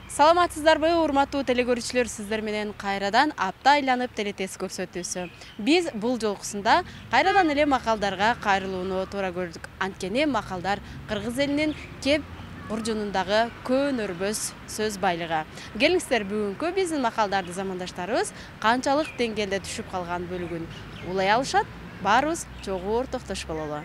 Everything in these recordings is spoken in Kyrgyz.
Саламатсыздарбы, урматтуу телекөрүүчүлөр, сиздер менен кайрадан апта айланып телетест көрсөтүүсү. Биз бул жолкусунда кайрадан эле макалдарга кайрылууну туура көрдүк. Анткени макалдар кыргыз элинин кеп буржунундагы көөнөрбөс сөз байлыгы. Келиңиздер, бүгүнкү биздин макалдарды замандаштарыбыз канчалык деңгээлде түшүп калган бөлүгүн улай алышат, баарыбыз чогуу ортоктош бололу.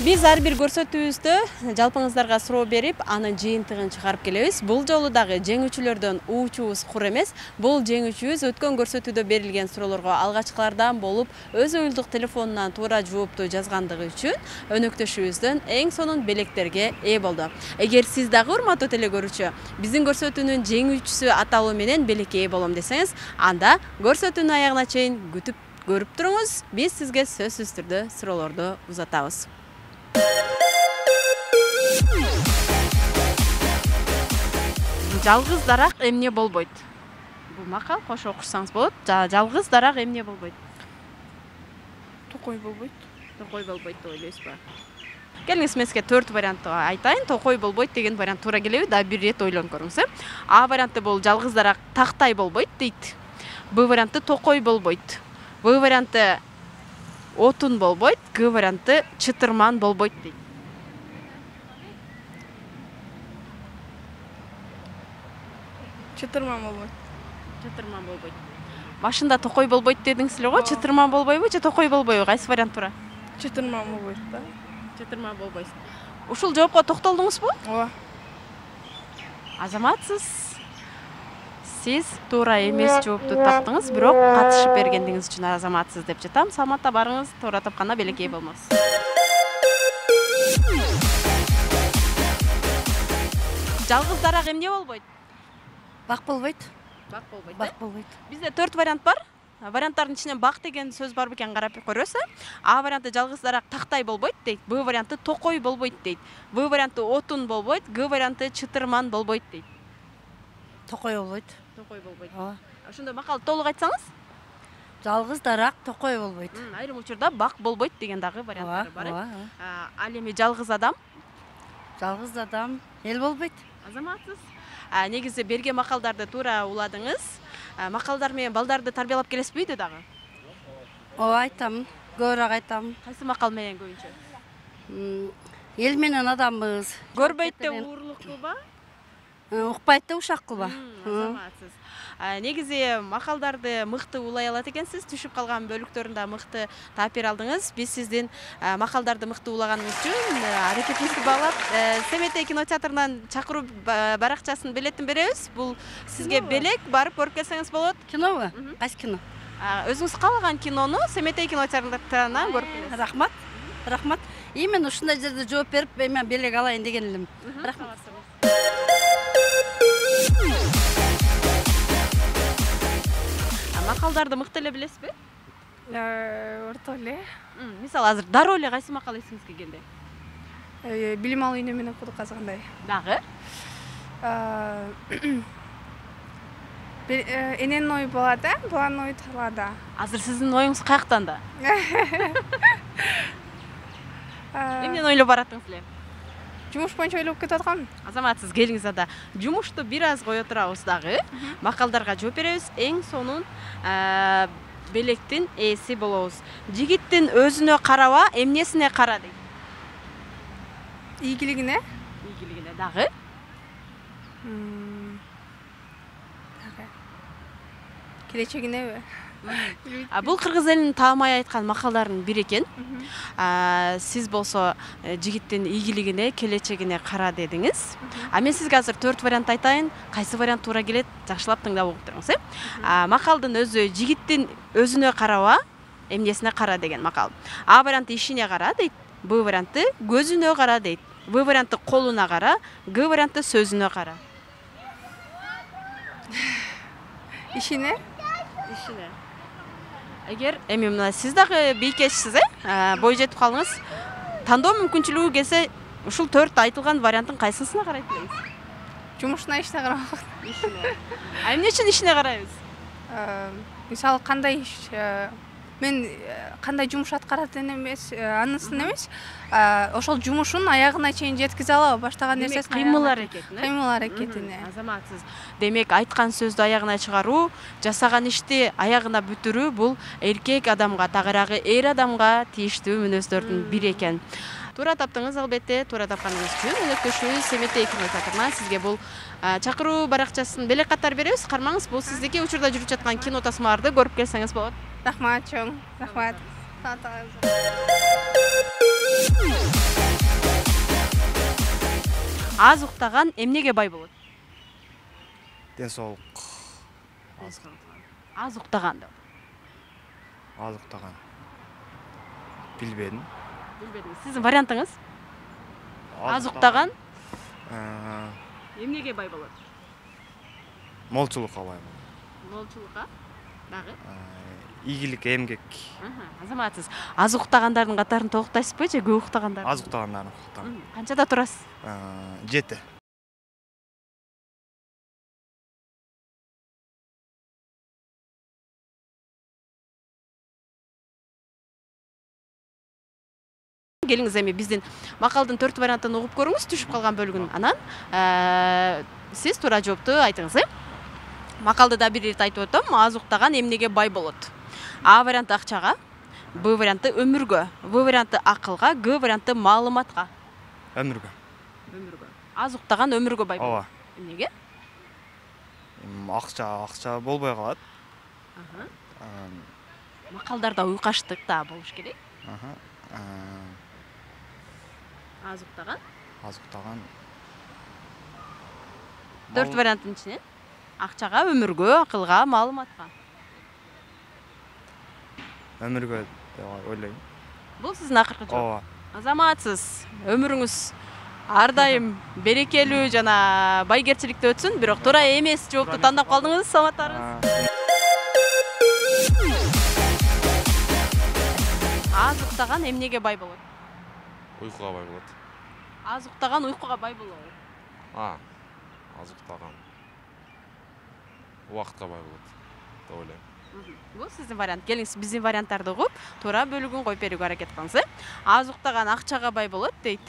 Биз ар бир көрсөтүүбүздө жалпыңыздарга суроо берип, анын жыйынтыгын чыгарып келебиз. Бул жолу дагы жеңүүчүлөрдөн уучубуз кур эмес. Бул жеңүүчүбүз өткөн көрсөтүүдө берилген суроолорго алгачкылардан болуп, өз уюлдук телефонунан туура жоопту жазгандыгы үчүн өнөктөшүбүздөн эң сонун белектерге ээ болду. Эгер сиз дагы урматтуу телекөрүүчү, биздин көрсөтүүнүн жеңүүчүсү аталуу менен белекке ээ болом десеңиз, анда көрсөтүүнүн аягына чейин күтүп көрүп туруңуз. Биз сизге сөзсүз түрдө суроолорду узатабыз. Жалгыз дарак эмне болбойт? Бул макал кошо окушсаңыз болот. Жалгыз дарак эмне болбойт? Токой болбойт. Токой болбойт деп ойлойсузбу? Келиңиз, мен сизге 4 вариантты айтайын. Токой болбойт деген вариант туура келеби? Да бир ирет ойлонуп көрүңүз. А варианты бул жалгыз дарак тактай болбойт дейт. Б варианты токой болбойт. В варианты отун болбойт. Г варианты чытырман болбойт дейт. Чытырман болбойт. Чытырман болбойт. Башында токой болбойт дедиңиз эле го, чытырман болбойбу же токой болбойбу? Кайсы вариант туура? Чытырман болбойт да. Чытырман болбойсуз. Ушул жоопко токтолдуңузбу? Ооба. Азаматсыз. Сиз туура эмес жоопту таптыңыз, бирок катышып бергендиңиз үчүн азаматсыз деп жатам. Саламатта барыңыз, туура тапканда белекке ээ болмосуз. Жалгыз дарак эмне болбойт? Бак болбойт. Бак болбойт. Бак болбойт. Бизде 4 вариант бар. Варианттардын ичинен бак деген сөз бар бекен, карап көрөсүз. А варианты жалгыз дарак тактай болбойт дейт. Б варианты токой болбойт дейт. В варианты отун болбойт. Г варианты чытырман болбойт дейт. Токой болбойт. Токой болбойт. Ооба. Ошондо макалды толук айтсаңыз? Жалгыз дарак токой болбойт. Айрым учурда бак болбойт деген дагы варианттар бар. Ооба. Ал эми жалгыз адам? Жалгыз адам эл болбойт. Азаматсыз. Негизи берген макалдарды туура уладыңыз. Макалдар менен балдарды тарбиялап келесизби үйдө дагы? Ооба, айтам. Көбүрөөк айтам. Кайсы макал менен көбүнчө? Эл менен адамбыз. Көрбөйт да уурлук кылба? Укпайт да ушак кылба. Азаматсыз. Негизи макалдарды мыкты улай алат экенсиз. Түшүп калган бөлүктөрүн да мыкты таап бере алдыңыз. Биз сиздин макалдарды мыкты улаганыңыз үчүн аракетиңизди баалап, Семетей кинотеатрынан чакыруу баракчасынын билетин беребиз. Бул сизге белек, барып көрүп келсеңиз болот. Кинобу? Кайсы кино? Өзүңүз каалаган кинону Семетей кинотеатрынан көрүп келесиз. Рахмат. Рахмат. Именно ушундай жерде жооп берип, мен белек алайын деген элем. Рахмат. Макалдарды мыкты эле билесизби? Орто эле. Мисалы азыр дароо эле кайсы макал эсиңизге келди? Билим алуу үйнө менен курдук казгандай. Дагы? Эненин ою болот, баланын ою талаада. Азыр сиздин оюңуз каяктан да? Эмнени ойлоп бараттыңыз эле? Жумуш боюнча ойлоп кетип аткам. Азаматсыз, келиңиз анда. Жумушту бир аз кое турабыз дагы. Макалдарга жооп беребиз. Эң сонун белектин ээси болобуз. Жигиттин өзүнө караба, эмнесине кара дейт? Ийгилигине. Ийгилигине дагы? Келечегинеби? Бул кыргыз элинин таамай айткан макалдарынын бири экен. Сиз болсо жигиттин ийгилигине, келечегине кара дедиңиз. Мен сизге азыр 4 вариант айтайын. Кайсы вариант туура келет, жакшылап тыңдап угуп туруңуз. Макалдын өзү жигиттин өзүнө караба, эмнесине кара деген макал. А варианты ишине кара дейт. Б варианты көзүнө кара дейт. В варианты колуна кара. Г варианты сөзүнө кара. Ишине? Ишине. Эгер эми мына сиз дагы бийкечсиз, бой жетип калдыңыз. Тандоо мүмкүнчүлүгү келсе, ушул 4 айтылган варианттын кайсысына карайт элеңиз? Жумушуна, ишине карабак. Ишине. Эмне үчүн ишине карайбыз? Мисалы кандай иш мен кандай жумуш аткаратын эмес, анысын эмес, ошол жумушун аягына чейин жеткизе алабы, баштаган нерсесин кыймыл аракетине. Азаматсыз. Демек айткан сөздү аягына чыгаруу, жасаган ишти аягына бүтүрүү бул эркек адамга, тагыраагы эр адамга тийиштүү мүнөздөрдүн бири экен. Туура таптыңыз, албетте, туура тапканыңыз үчүн өнөктөшүбүз Семетей кино театрына сизге бул чакыруу баракчасын белек катар беребиз. Кармаңыз, бул сиздики учурда жүрүп жаткан кино тасмаларды көрүп келсеңиз болот. Рахмат чоң, рахмат. Аз уктаган эмнеге бай болот? Ден соолук. Аз уктаган. Аз уктаган. Билбедим. Сиздин вариантыңыз? Аз уктаган эмнеге бай болот? Молчулукка бай болот. Молчулукка? Дагы? Ийгилик, эмгек. Азаматсыз. Аз уктагандардын катарын толуктайсызбы же көп уктагандарды? Аз уктагандарын уктагам. Канчада турасыз? 7. Келиңиз эми биздин макалдын 4 вариантын угуп көрүңүз, түшүп калган бөлүгүн. Анан сиз туура жоопту айтыңыз, Макалды да бир ирет айтып өтөм. Аз уктаган эмнеге бай болот? А варианты акчага, Б варианты өмүргө, В варианты акылга, Г варианты маалыматка. Өмүргө. Аз уктаган өмүргө бай болот. Ооба. Эмнеге? Акча болбой калат. Макалдарда уйкаштык да болуш керек. Аз уктаган? Аз уктаган. 4 варианттын ичинен акчага, өмүргө, акылга, маалыматка. Өмүргө деп ойлойм. Бул сиздин акыркы жооп. Ооба. Азаматсыз. Өмүрүңүз ар дайым берекелүү жана байгерчиликтүү өтсүн, бирок туура эмес жоопту тандап калдыңыз. Саламаттарыңыз. Аз уктаган эмнеге бай болот? Уйкуга бай болот. Аз уктаган уйкуга бай болот. Аз уктаган убакытка бай болот деп ойлойм. Бул сиздин вариант. Келиңиз биздин варианттарды угуп, туура бөлүгүн коюп берүүгө аракет кылыңыз. Аз уктаган акчага бай болот дейт.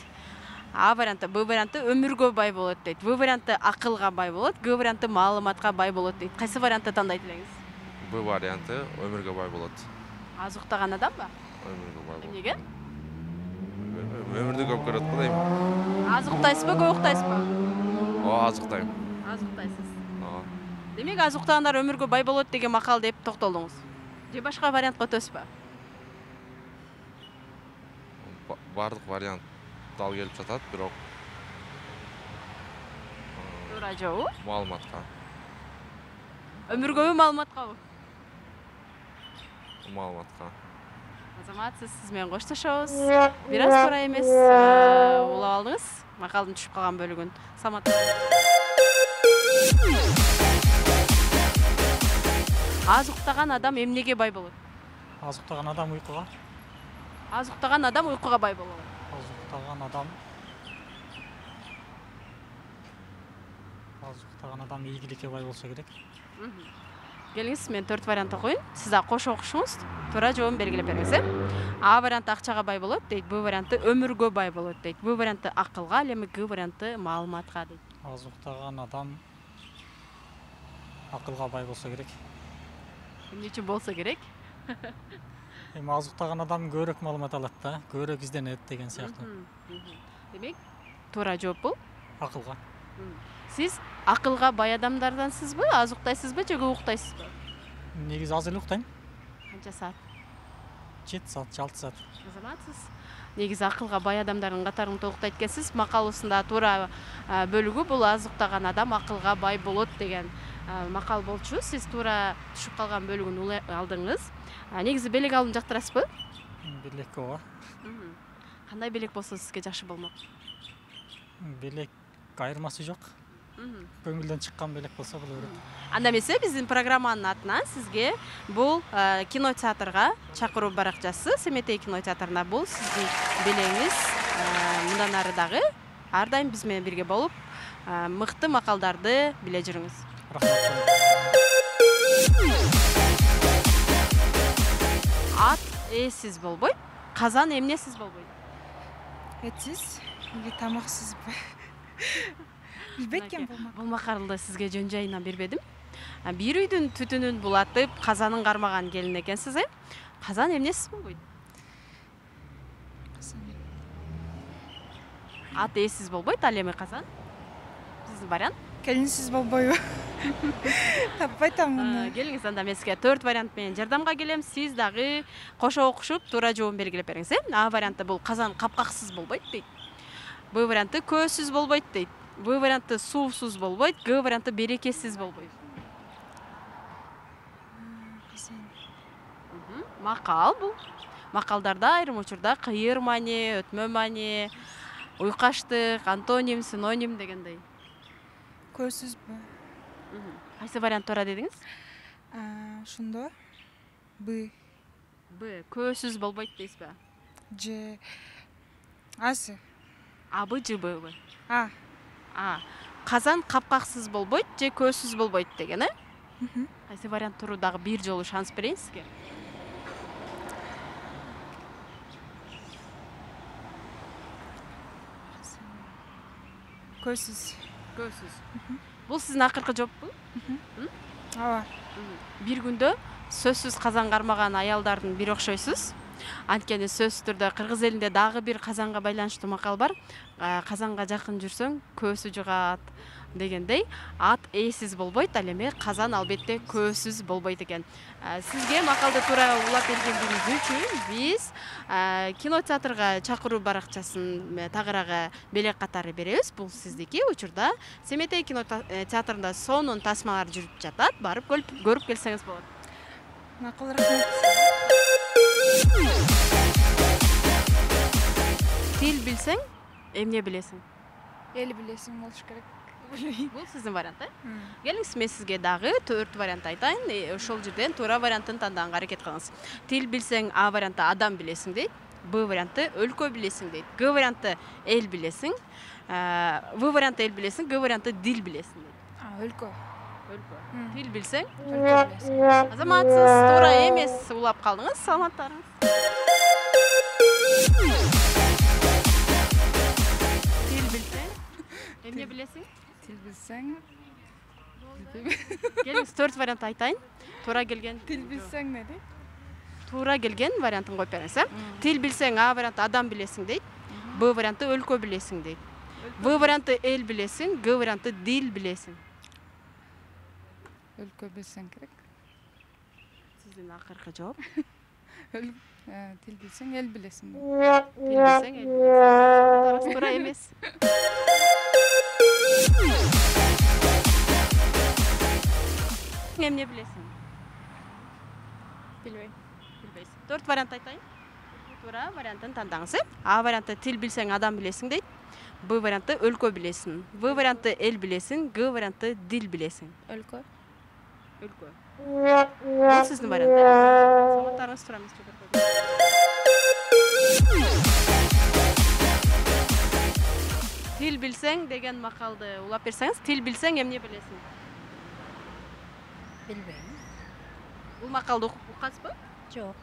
А варианты, Б варианты өмүргө бай болот дейт. В варианты акылга бай болот, Г варианты маалыматка бай болот дейт. Кайсы вариантты тандайт элеңиз? Б варианты өмүргө бай болот. Аз уктаган адамбы? Өмүргө бай болот. Эмнеге? Өмүрдү көп көрөт го дейм. Аз уктайсызбы, көп уктайсызбы? Аз уктайм. Аз уктайсыз. Демек аз уктагандар өмүргө бай болот деген макал деп токтолдуңуз. Же башка вариантка өтөсүзбү? Бардык вариант дал келип жатат, бирок туура жообу? Маалыматка. Өмүргөбү, маалыматкабы? Маалыматка. Азаматсыз, сиз менен коштошобуз. Бир аз туура эмес улап алдыңыз. Макалдын түшүп калган бөлүгүн. Аз уктаган адам эмнеге бай болот? Аз уктаган адам уйкуга. Аз уктаган адам уйкуга бай болот. Аз уктаган адам ийгиликке бай болсо керек. Келиңиз, мен 4 вариантты коюн. Сиз да кошо окушуңуз, туура жообун белгилеп бериңиз. А варианты акчага бай болот дейт, Б варианты өмүргө бай болот дейт, В варианты акылга, ал эми Г варианты маалыматка дейт. Аз уктаган адам акылга бай болсо керек. Эмне үчүн болсо керек? Эми аз уктаган адам көбүрөөк маалымат алат да, көбүрөөк изденет деген сыяктуу. Демек, туура жооп бул акылга. Сиз акылга бай адамдардансызбы, аз уктайсызбы же көп уктайсызбы? Негизи аз эле уктайм. Канча саат? 7 саат, 6 саат. Азаматсыз. Негизи акылга бай адамдардын катарын толуктайт экенсиз. Макалыбызда туура бөлүгү бул аз уктаган адам акылга бай болот деген макал болчу. Сиз туура түшүп калган бөлүгүн алдыңыз. Негизи белек алууну жактырасызбы? Белек ооба. Кандай белек болсо сизге жакшы болмок? Белек айырмасы жок. Көңүлдөн чыккан белек болсо боло берет. Анда эмесе биздин программанын атынан сизге бул кино театрга чакыруу баракчасы, Семетей кино театрына бул сиздин белегиңиз. Мындан ары дагы ар дайым биз менен бирге болуп, мыкты макалдарды биле жүрүңүз. Рахмат. Эсиз болбойт. Казан эмнесиз болбойт? Этсиз или тамаксызбы? Билбейт экен Бул макалды сизге жөн жайынан бербедим. Бир үйдүн түтүнүн булатып, казанын кармаган келин экенсиз, Казан эмнесиз болбойт? Ат эсиз болбойт, ал эми казан? Сиздин вариант? Келинсиз болбойбу? Таппай атам муну. Келиңиз, анда мен сизге 4 вариант менен жардамга келем. Сиз дагы кошо окушуп, туура жообун белгилеп бериңиз. А варианты бул казан капкаксыз болбойт дейт. Б варианты көөсүз болбойт дейт. Б варианты суусуз болбойт. Г варианты берекесиз болбойт. Макал бул. Макалдарда айрым учурда кыйыр маани, өтмө маани, уйкаштык, антоним, синоним дегендей. Көзсүзбү? Кайсы вариант туура дедиңиз? Ошондо Б. Б. Көөсүз болбойт дейсизби? Ж. Асы? А, Б, Ж, Б. А. Казан капкаксыз болбойт же көөсүз болбойт деген, Кайсы вариант туруу дагы бир жолу шанс берейин сизге. Көзсүз. Көөсүз. Бул сиздин акыркы жооппу? Ооба. Бир күндө сөзсүз казан кармаган аялдардын бири окшойсуз. Анткени сөзсүз түрдө кыргыз элинде дагы бир казанга байланыштуу макал бар. Казанга жакын жүрсөң көөсү жугат дегендей. Ат эсиз болбойт, ал эми казан албетте көөсүз болбойт экен. Сизге макалды туура улап бергениңиз үчүн биз кинотеатрга чакыруу баракчасын тагыраагы белек катары беребиз. Бул сиздики. Учурда Семетей кинотеатрында сонун тасмалар жүрүп жатат. Барып көрүп келсеңиз болот. Макул, рахмат. Тил билсең, эмне билесиң? Эл билесиң болуш керек. Бул сиздин вариант, Келиңиз, мен сизге дагы 4 вариант айтайын. Ошол жерден туура вариантын тандаганга аракет кылыңыз. Тил билсең, А варианты адам билесиң дейт. Б варианты өлкө билесиң дейт. Г варианты эл билесиң. В варианты эл билесиң, Г варианты дил билесиң дейт. Өлкө. Тил билсең, Өлкө билесиң. азаматсыз, туура эмес улап калдыңыз. Саламаттарыңыз. Тил билсең, эмне билесиң? Тил билсең. Келиңиз, 4 вариант айтайын. Туура келген. Тил билсең не дейт? Туура келген вариантын коюп бериңиз, Тил билсең, А варианты адам билесиң дейт. Б варианты өлкө билесиң дейт. В варианты эл билесиң, Г варианты дил билесиң. Өлкө билсең керек. Сиздин акыркы жооп. Тил билсең, эл билесиң. Тил билсең, эл билесиң. Туура эмес. Эмне билесиң? Билбейм. Билбейсиң. 4 вариант айтайын. Туура вариантын тандаңыз. А варианты тил билсең, адам билесиң дейт. Б варианты өлкө билесиң. В варианты эл билесиң, Г варианты дил билесиң. Өлкө. Өлкө. Бул сиздин вариант. Саламаттарыңыз, туура эмес жооп бердиңиз. Тил билсең деген макалды улап берсеңиз, тил билсең эмне билесиң? Билбейм. Бул макалды укасызбы? Жок.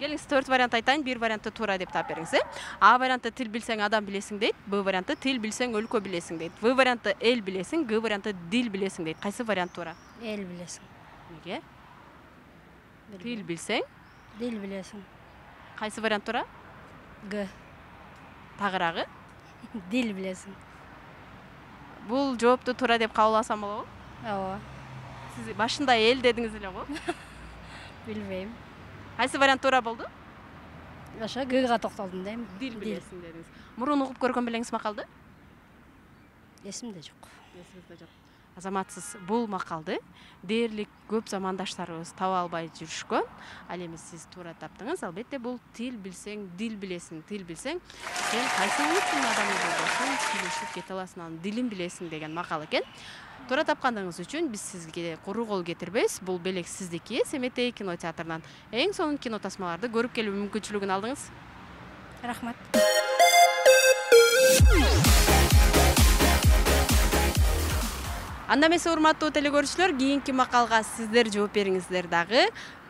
Келиңиз, 4 вариант айтайын, бир варианты туура деп таап бериңиз. А варианты тил билсең, адам билесиң дейт. Б варианты тил билсең, өлкө билесиң дейт. В варианты эл билесиң, Г варианты дил билесиң дейт. Кайсы вариант туура? Эл билесиң. Неге? Тил билсең, Дил билесиң. кайсы вариант туура? Г. Тагыраагы? Дил билесиң. Бул жоопту туура деп кабыл алсам болобу? Ооба. Сиз башында эл дедиңиз эле го? Билбейм. Кайсы вариант туура болду? Ошо Гга токтолдум дейм. Дил билесиң дедиңиз. Мурун угуп көргөн белеңиз макалды? Эсимде жок. Эсиңизде жок. Азаматсыз, бул макалды дээрлик көп замандаштарыбыз таба албай жүрүшкөн. Ал эми сиз туура таптыңыз. Албетте бул тил билсең, дил билесиң. Тил билсең, сен кайсы улуттун адамы болбосуң, сүйлөшүп кете аласың, анын дилин билесиң деген макал экен. Туура тапкандыгыңыз үчүн биз сизге куру кол кетирбейбиз. Бул белек сиздики. Семетей кинотеатрынан эң сонун кино тасмаларды көрүп келүү мүмкүнчүлүгүн алдыңыз. Рахмат. Анда эмесе урматтуу телекөрүүчүлөр, кийинки макалга сиздер жооп бериңиздер дагы.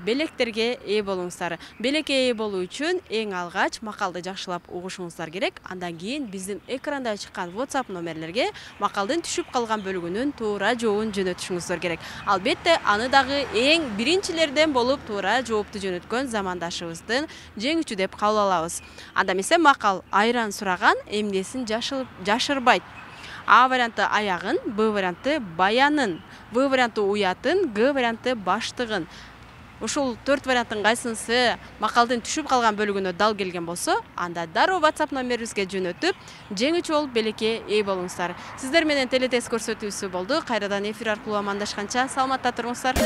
Белектерге ээ болуңуздар. Белекке ээ болуу үчүн эң алгач макалды жакшылап угушуңуздар керек. Андан кийин биздин экранда чыккан WhatsApp номерлерге макалдын түшүп калган бөлүгүнүн туура жообун жөнөтүшүңүздөр керек. Албетте, аны дагы эң биринчилерден болуп туура жоопту жөнөткөн замандашыбыздын жеңүүчү деп кабыл алабыз. Анда эмесе макал айран сураган эмнесин жашырбайт. А варианты аягын, Б варианты баянын, В варианты уятын, Г варианты баштыгын. Ушул 4 варианттын кайсынысы макалдын түшүп калган бөлүгүнө дал келген болсо, анда дароо WhatsApp номерибизге жөнөтүп, жеңүүчү болуп белекке ээ болуңуздар. Сиздер менен телетест көрсөтүүсү болду. Кайрадан эфир аркылуу амандашканча саламатта туруңуздар.